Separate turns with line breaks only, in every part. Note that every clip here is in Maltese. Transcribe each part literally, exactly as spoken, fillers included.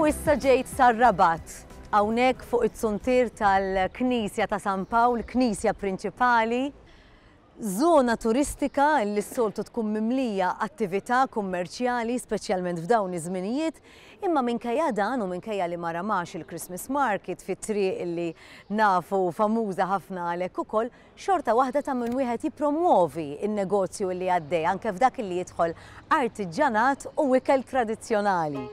U issa ġejt sar-Rabat, hawnhekk fuq it-suntier tal-Knisja ta' San Pawl, knisja prinċipali, zona turistika li s-soltu tkun mimlija attività kummerċjali, speċjalment f'dawn iż-żminijiet, imma minkejja dan u minkejja li ma ramax il-Christmas Market fit-triq li nafu famuża ħafna għalhekk ukoll, xorta waħda ta' min wieħed jippromuovi n-negozju li għaddej anke f'dak li jidħol artiġjanat u ikel tradizzjonali.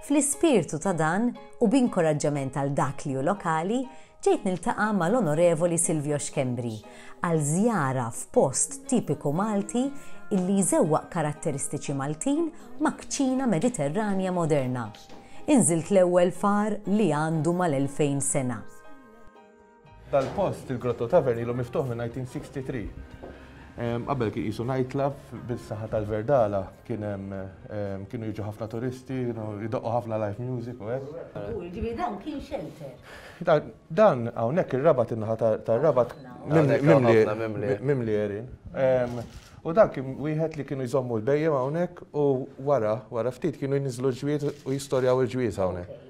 Fl-ispirtu ta' dan u b'inkoraġġament għal dak li hu lokali, ġejt niltaqa' mal-Onorevoli Silvio Schembri għal żjara f'post tipiku Malti illi jżewwaq karatteristiċi Maltin ma' kċina Mediterranja moderna. Inżilt l-ewwel far li għandu mal-elfejn sena.
Dal-post, il-Grotto Tavern, ilu miftuħ minn nineteen sixty-three. Qabel kien qisu nightclub bis-saħħa tal-Verdala, kien hemm, kienu jiġu ħafna turisti, kienu jdoqqu ħafna live music u hekk.
U ġifieri dan kien shelter.
Dan, dan hawnhekk ir-Rabat, in-naħa tar-Rabat mimli mimli għerien. U dan kien wieħed li kienu jżommu l-bejjem hawnhekk u wara, wara ftit kienu jniżlu l-ġwied u jistorjaw il-ġwied hawnhekk.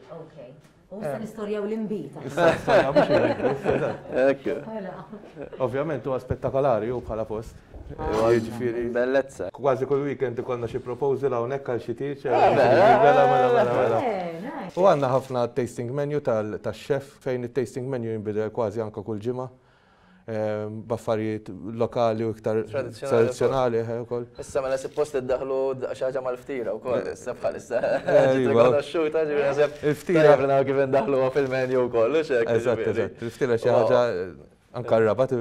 U issa nistorjaw l-inbid.
Issa nistorjaw mhux l-inbid. Ovvjament huwa spettakolari hu bħala post. Jiġifieri
Bellezza.
Kważi kull weekend ikollna xi proposal hawnhekk għal xi tieġ, mela, mela, mela, mela. U għandna ħafna tasting menu tax-chef fejn it-tasting menu jinbidel kważi anke kull ġimgħa. B'affarijiet lokali u iktar tradizzjonali ukoll.
Issa mela suppost iddaħlu xi ħaġa mal-ftira wkoll, issa bħalissa. Rikonoxxuta, ġifieri naħseb
Il-ftira
tajjeb li naraw kif indaħluha fil-menu wkoll, hux hekk,
Eżatt,
ġifieri.
eżatt. Il-ftira xi ħaġa anke r-Rabat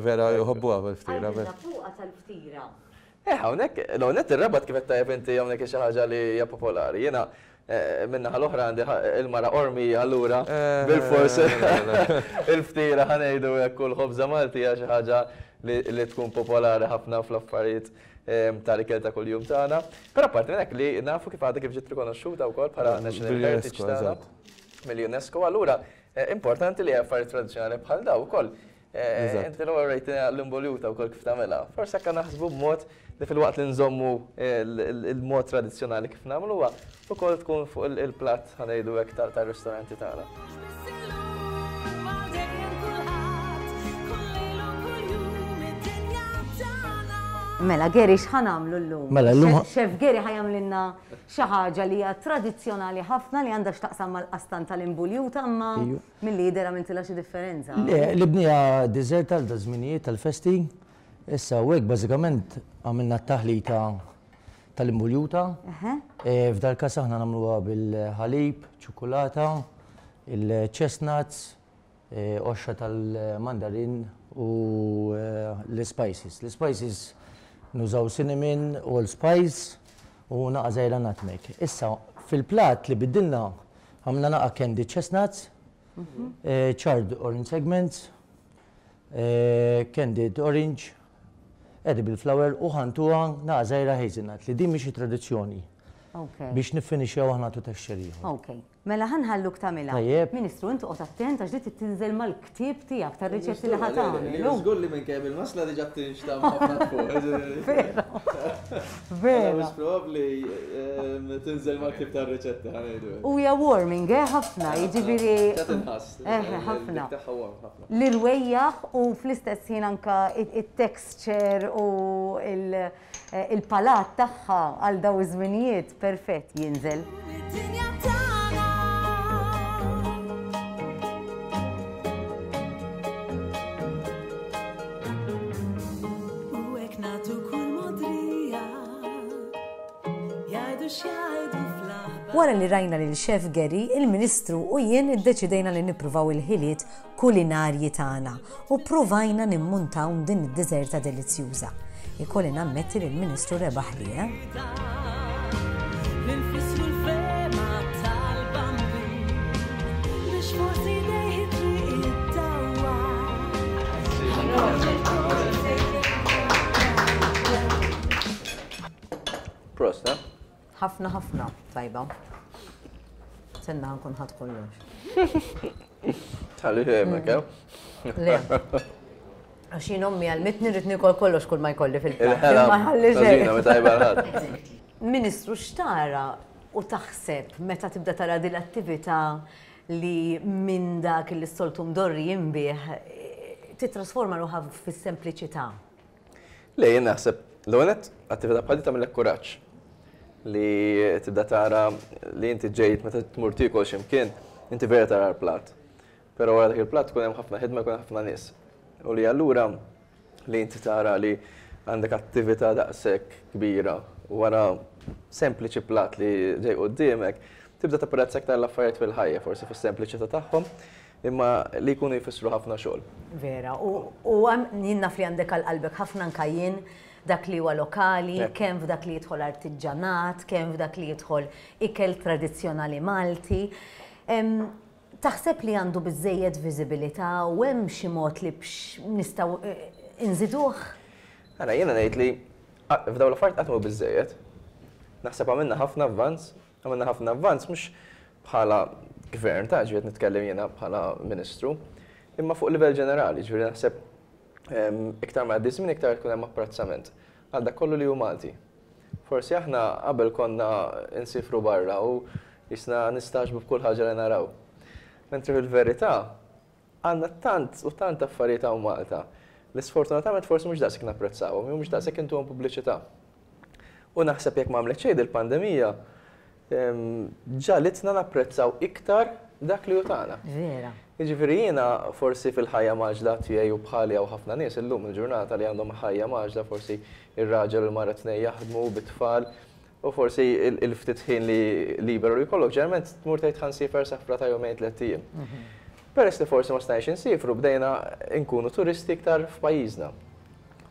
vera jħobbuha fil-ftira.
Għandna fuqha tal-ftira.
Eh, hawnhekk, l-hawnhekk ir-Rabat kif qed tajjeb inti hawnhekk xi ħaġa li hija popolari. Jiena minna l-oħra għandi il-mara Ormi allura bil-fors il-ftira ħanejdu hekk kull ħobża Malti hija xi ħaġa li tkun popolari ħafna fl-affarijiet tal-ikel ta' kuljum tagħna. Però apparti minn hekk li nafu kif għadha kif ġiet rikonoxxuta wkoll bħala National Heritage tagħna mill-UNESCO, allura importanti li affarijiet tradizzjonali bħal daw ukoll. Inti l-ewwel rejtina l-imboljuta wkoll kif tagħmilha. Forsi hekk naħsbu b'mod li filwaqt li nżommu il-mod tradizzjonali kif nagħmluha, ukoll tkun fuq il-platt ħanejdu hekk tar-ristoranti tagħna.
Mela, Gary, x'ħa nagħmlu llum?
Mela, llum
Chef Gary ħa jagħmlilna xi ħaġa li hija tradizzjonali ħafna li għandha x'taqsam mal-qastan tal-imbuljuta, imma
Iju.
milli jidher għamiltilha xi differenza.
Le, l-ibnija dessert għal da żminijiet tal-festi. Issa u hekk bażikament għamilna t-taħlita tal-imbuljuta.
Eħe.
E, f'dal każ aħna nagħmluha bil-ħalib, ċokolata, il-chestnuts, e, qoxra tal-mandarin u, e, l-spices. L-spices nużaw cinnamon, allspice u naqa żgħira nutmeg. Issa fil-plat li biddilna għamilna naqa candy chestnuts,
Mhm.
e, charred orange segments, e, candied orange, edible flower u ħantuha naqa żgħira hazelnut li din mhix tradizzjoni.
Ok.
Biex niffinixxjaw aħna tu texture ieħor.
Ok. Mela ħanħalluk tagħmilha.
Tajjeb.
Ministru, intu qgħod attent għax di tinżel mal-ktieb tiegħek tar-riċetti li ħa tagħmel.
Żgur li minn kemm il-masla diġà tinxtam ħafna fuq.
Vera. Vera.
Mhux probabbli, ehm, tinżel mal-ktieb tar-riċetti ħanejdu.
U hija warming, eh, ħafna, jiġifieri
Ta' tinħass.
Eh, ħafna.
Dik tagħha warm ħafna.
L-irwejjaħ u fl-istess ħin anka it-texture u il-, il-palat tagħha għal daw iż-żminijiet perfett jinżel. Wara li rajna lil Chef Gary, il-Ministru u jien iddeċidejna li nippruvaw il-ħiliet kulinarji tagħna u ppruvajna nimmuntaw din id-deżerta delizzjuża. Ikolli nammetti li l-Ministru rebaħ li, eh?
Prost, eh?
Ħafna, ħafna, tajba. Senna nkun ħadd kollox.
Tħalli hemmhekk, eh?
Le. Għax jien ommi għalmitni rrid nikol kollox kull ma jkolli fil-platt.
Il-ħela
Ma ħalli xejn.
tażina meta tajba l-ħadd.
Ministru, x'tara u taħseb meta tibda tara din l-attività li minn dak li s-soltu mdorri jinbiegħ titrasforma ruħha fis-sempliċità?
Le, jien naħseb, l-ewwel nett, attività bħal din tagħmilek kuraġġ li tibda tara li inti ġejt meta tmur tiekol x'imkien, inti vera tara l-plat. Però wara dak il-plat tkun hemm ħafna ħidma, jkun hemm ħafna nies. U li allura li inti tara li għandek attività daqshekk kbira wara sempliċi plat li ġej quddiemek, tibda tapprezza aktar l-affarijiet fil-ħajja, forsi fis-sempliċità tagħhom, imma li jkunu jfissru ħafna xogħol.
Vera, u jien naf li għandek għal qalbek ħafna anka jien dak li huwa lokali, kemm f'dak li jidħol artiġġanat, kemm f'dak li jidħol ikel tradizzjonali Malti. Taħseb li għandu biżejjed viżibilità u hemm xi mod li biex nistgħu nżiduh?
Ara, jiena ngħid li f'dawn l-affarijiet qatt mhu biżejjed. Naħseb għamilna ħafna avvanz, għamilna ħafna avvanz mhux bħala gvern ta' ġifieri nitkellem jiena bħala ministru, imma fuq livell ġenerali, ġifieri naħseb iktar ma għaddi żmien iktar tkun hemm apprezzament għal dak kollu li hu Malti. Forsi aħna qabel konna nsifru barra u jisna nistagħġbu b'kull ħaġa li naraw. Mentri fil-verità għandna tant u tant affarijiet hawn Malta li sfortunatament forsi mhux daqshekk napprezzawhom, jew mhux daqshekk intuhom pubbliċità. U naħseb jekk m'għamlet xejn il-pandemija, ġagħlitna napprezzaw iktar dak li hu tagħna.
Vera.
Jiġifieri jiena forsi fil-ħajja mgħaġġla tiegħi u bħali hawn ħafna nies illum il-ġurnata li għandhom ħajja mgħaġġla, forsi ir-raġel u l-mara tnejn jaħdmu bit-tfal u forsi il-ftit ħin li liberu li jkollok ġeneralment tmur tgħid ħa nsiefer safra ta' jumejn tliet ijiem. Peress li forsi ma stajniex insifru bdejna nkunu turisti iktar f'pajjiżna.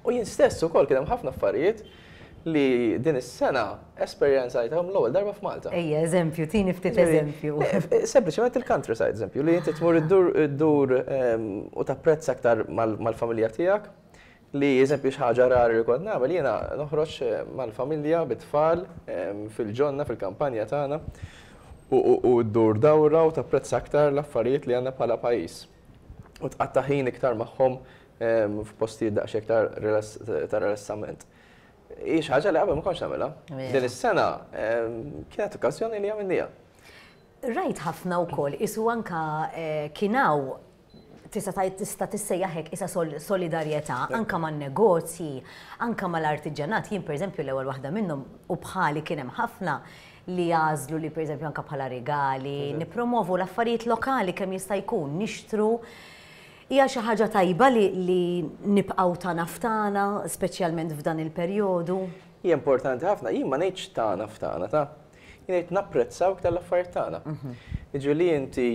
U jien stess ukoll kien hemm ħafna affarijiet li din is-sena esperjenzajthom l-ewwel darba f'Malta.
Ejja, eżempju, tini ftit eżempju.
Sempliċement il-countryside, eżempju, li inti tmur iddur u tapprezza aktar mal-familja tiegħek, li eżempju xi ħaġa rari li kont nagħmel jiena noħroġ mal-familja bit-tfal fil-ġonna, fil-kampanja tagħna u ddur dawra u tapprezza aktar l-affarijiet li għandna bħala pajjiż. U tqatta' ħin iktar magħhom f'postijiet daqsxejn iktar ta' rilassament. Hi xi ħaġa li qabel ma kontx nagħmilha. Din is-sena kienet okkażjoni li għamilniha.
Rajt ħafna wkoll isu anka kien hawn tista' tgħid tista' tissejjaħ hekk isa solidarjetà anka man-negozji, anka mal-artiġjanat. Jien pereżempju l-ewwel waħda minnhom u bħali kien hemm ħafna li jagħżlu li pereżempju anka bħala regali, nippromovu l-affarijiet lokali kemm jista' jkun, nixtru. Hija xi ħaġa tajba li, li nibqgħu tagħna f'tagħna, speċjalment f'dan il-perjodu.
Hija importanti ħafna, jien ma ngħidx tagħna f'tagħna ta' jien ngħid napprezzaw iktar l-affarijiet tagħna. Jiġifieri li inti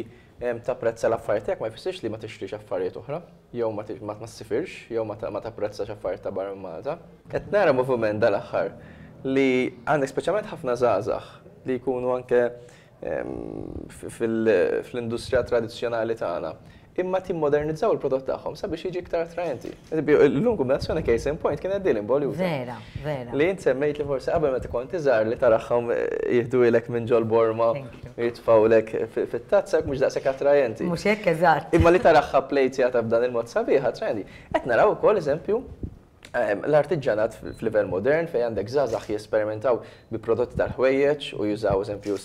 tapprezza l-affarijiet tiegħek ma jfissirx li ma tixtrix affarijiet oħra, jew ma ssifirx, jew ma tapprezzax affarijiet ta' barra minn Malta. Qed nara moviment dal-aħħar li għandek speċjalment ħafna żgħażagħ li jkunu anke fl-industrija tradizzjonali tagħna, imma timmodernizzaw il-prodott tagħhom sabiex jiġi iktar attraenti. Illum kombinazzjoni case in point kienet din involuta.
Vera, vera.
Li int semmejt li forsi qabel meta kont iżgħar li taraħħom jieħdu minn ġol borma jitfgħulek fit-tazza mhux daqshekk attraenti.
Mhux hekk eżatt.
Imma li taraħħa plejtjata b'dan il-mod sabiħ attraenti. Qed naraw ukoll eżempju l-artiġġanat f'livell modern fejn għandek żgħażagħ jesperimentaw bi prodotti tal-ħwejjeġ u jużaw eżempju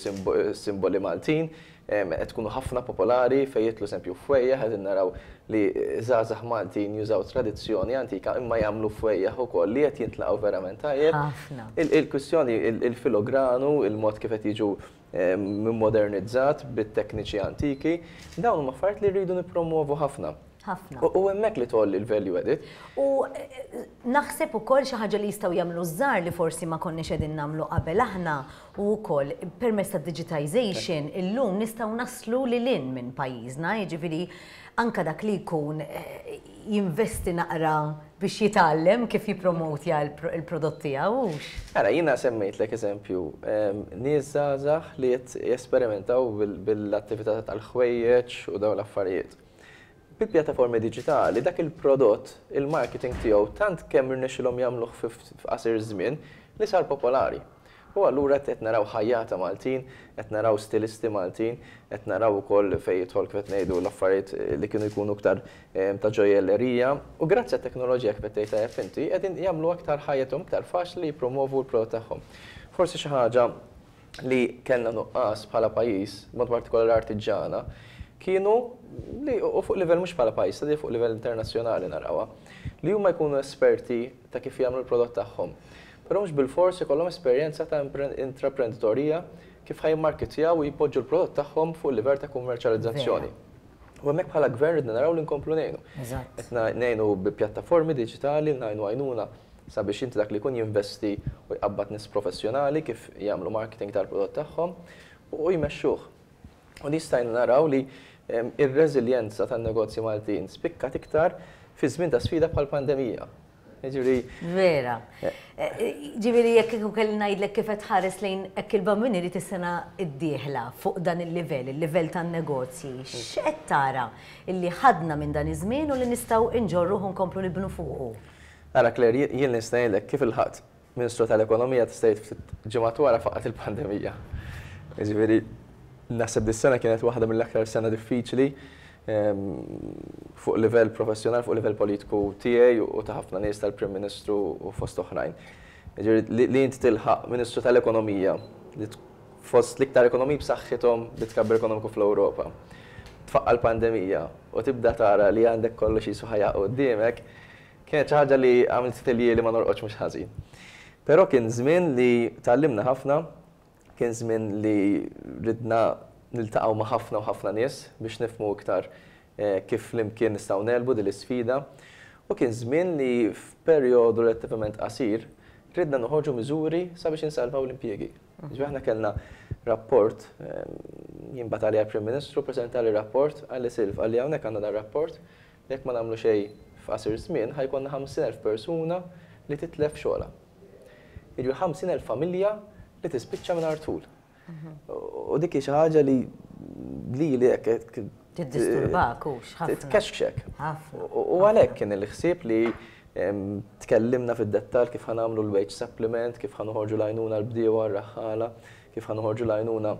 simboli Maltin, qed tkunu ħafna popolari fejn jitlu eżempju fwejjaħ, qed naraw li żgħażagħ Maltin jużaw tradizzjoni antika imma jagħmlu fwejjaħ ukoll li qed jintlaqgħu verament tajjeb. Il-kwistjoni il-filogranu, il-mod kif qed jiġu modernizzat bit-tekniċi antiki, dawn huma affarijiet li rridu nippromovu ħafna.
Ħafna.
U hemmhekk li tgħolli l-value added.
U naħseb ukoll xi ħaġa li jistgħu jagħmlu żgħar li forsi ma konniex qegħdin nagħmlu qabel aħna u wkoll permezz ta' digitization illum nistgħu naslu lil hinn minn pajjiżna, jiġifieri anka dak li jkun jinvesti naqra biex jitgħallem kif jippromotja l-prodott tiegħu.
Ara, jiena semmejtlek eżempju, nies żgħażagħ li qed jesperimentaw bil-attività tal-ħwejjeġ u dawn l-affarijiet. Bil-pjattaformi diġitali, dak il-prodott, il-marketing tiegħu tant kemm irnexxilhom jagħmluh f'qasir żmien li sar popolari. U allura qed naraw ħajjata Maltin, qed naraw stilisti Maltin, qed naraw ukoll fejn jidħol kif qed ngħidu l-affarijiet li kienu jkunu aktar ta' ġojjellerija. U grazzi għat-teknoloġija kif qed tgħid tajjeb inti, qegħdin jagħmlu aktar ħajjithom aktar faċli jippromovu l-prodott tagħhom. Forsi xi ħaġa li kellna nuqqas bħala pajjiż, mod partikolari artiġjana, kienu li u fuq livell mhux bħala pajjiż, ta' fuq livell internazzjonali narawha, li huma jkunu esperti ta' kif jagħmlu l-prodott tagħhom. Però mhux bilfors ikollhom esperjenza ta' intraprenditorija kif ħa jimmarketjaw u jpoġġu l-prodott tagħhom fuq livell ta' kummerċjalizzazzjoni. U hemmhekk bħala gvern ridna naraw li nkomplu ngħinu. Qed ngħinu bi pjattaformi diġitali, ngħinu għajnuna sabiex inti dak li jkun jinvesti u jqabbad nies professjonali kif jagħmlu marketing tal-prodott tagħhom u jmexxuh. U nistajna naraw li ir-reżiljenza tan-negozji Maltin spikkat iktar fi żmien ta' sfida bħal pandemija. Ġifieri.
Vera. Ġifieri jekk kieku kelli ngħidlek kif qed tħares lejn hekk il-Bambin irid is-sena d-dieħla fuq dan il-livell, il-livell tan-negozji, x'qed tara illi ħadna minn dan iż-żmien u li nistgħu nġorruh u nkomplu nibnu fuqu?
Ara Claire, jien nista' ngħidlek kif il-ħadd Ministru tal-Ekonomija tista' tgħid ftit ġimgħat wara faqgħet il-pandemija. Ġifieri naħseb dis-sena kienet waħda mill-aktar sena diffiċli fuq livell professjonali, fuq livell politiku tiegħi u ta' ħafna nies tal-Prim Ministru u fost oħrajn. Ġifieri li inti tilħaq Ministru tal-Ekonomija li fost l-iktar ekonomiji b'saħħithom bi tkabbir ekonomiku fl-Ewropa. Tfaqqa l-pandemija u tibda tara li għandek kollox qisu ħajja quddiemek, kienet xi ħaġa li għamilt li ma norqodx mhux ħażin. Però kien żmien li tgħallimna ħafna, kien żmien li ridna niltaqgħu ma' ħafna u ħafna nies biex nifhmu iktar kif flimkien nistgħu negħlbu din l-isfida. U kien żmien li f'perjodu relattivament qasir ridna noħorġu miżuri sabiex insalvaw l-impjiegi. Ġifieri aħna kellna rapport, jien bagħat għalija l-Prim Ministru, preżentali rapport, qalli Silv, qalli hawnhekk għandna dan rapport, jekk ma nagħmlu xejn f'qasir żmien ħa jkollna ħamsin elf persuna li titlef xogħolha. Jiġifieri ħamsin elf familja li tispiċċa mingħajr tul. U dik hi xi ħaġa li lili hekk
Tiddisturbak hux ħafna.
Tkexkxek. U għalhekk kien il-ħsieb li tkellimna fid-dettall kif ħa nagħmlu l-wage supplement, kif ħa noħorġu l-għajnuna l-bdiewa r-raħħala, kif ħa noħorġu l-għajnuna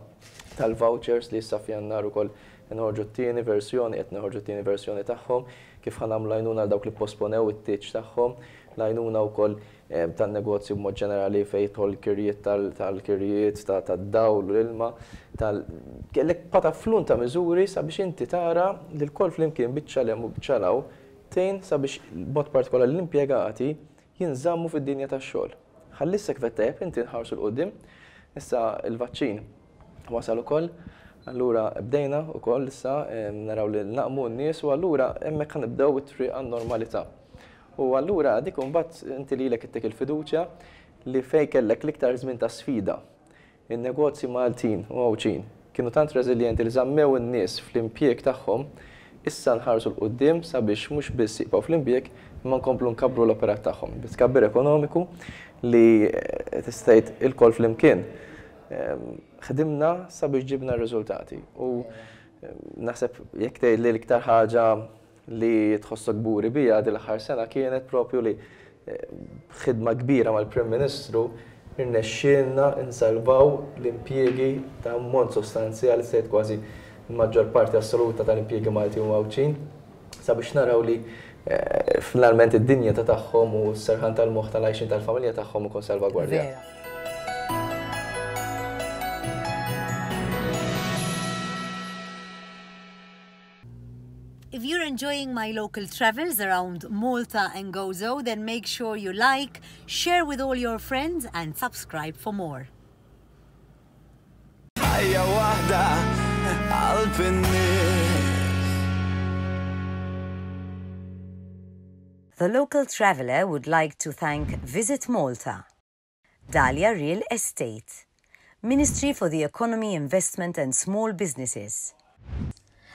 tal-vouchers li issa f'Jannar ukoll noħorġu t-tieni versjoni, qed noħorġu t-tieni versjoni tagħhom, kif ħa nagħmlu l-għajnuna għal dawk li posponew it-tieġ tagħhom, l-għajnuna wkoll tan-negozju b'mod ġenerali fejn jidħol kirjiet tal-kirjiet, tad-dawl u l-ilma, tal kellek pataflun ta' miżuri sabiex inti tara li l-koll flimkien biċċa 'l hemm u biċċa 'l hawn tgħin sabiex b'mod partikolari l-impjegati jinżammu fid-dinja tax-xogħol. Ħalli issa kif qed tajjeb inti nħarsu 'l quddiem, issa l-vaċċin wasal ukoll, allura bdejna wkoll issa naraw li naqmu n-nies u allura hemmhekk ħa nibdew it-triq għan-normalità. U allura dik imbagħad inti lilek ittik il-fiduċja li fejn kellek l-iktar żmien ta' sfida. In-negozji Maltin u Għawdxin kienu tant reżiljenti li żammew in-nies fl-impjieg tagħhom, issa nħarsu 'l quddiem sabiex mhux biss jibqgħu fl-impjieg imma nkomplu nkabbru l-operat tagħhom. Bi tkabbir ekonomiku li tista' tgħid ilkoll flimkien ħdimna sabiex ġibna r-riżultati. U naħseb jekk tgħid li l-iktar ħaġa li tħossok kburi bija din l-aħħar sena kienet propju li ħidma kbira mal-Prim Ministru irnexxielna nsalvaw l-impjiegi ta' ammont sostanzjali, sejt kważi l-maġġor parti assoluta tal-impjiegi Malti u Għawdxin, sabiex naraw li finalment id-dinjità tagħhom u s-serħan tal-moħħ tal-għajxin tal-familja tagħhom ikun salvagwardjat.
If you're enjoying my local travels around Malta and Gozo, then make sure you like, share with all your friends and subscribe for more.
Ħajja waħda qalb in-nies.
The Local Traveller would like to thank Visit Malta, Dahlia Real Estate, Ministry for the Economy, Investment and Small Businesses,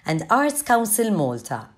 and Arts Council Malta.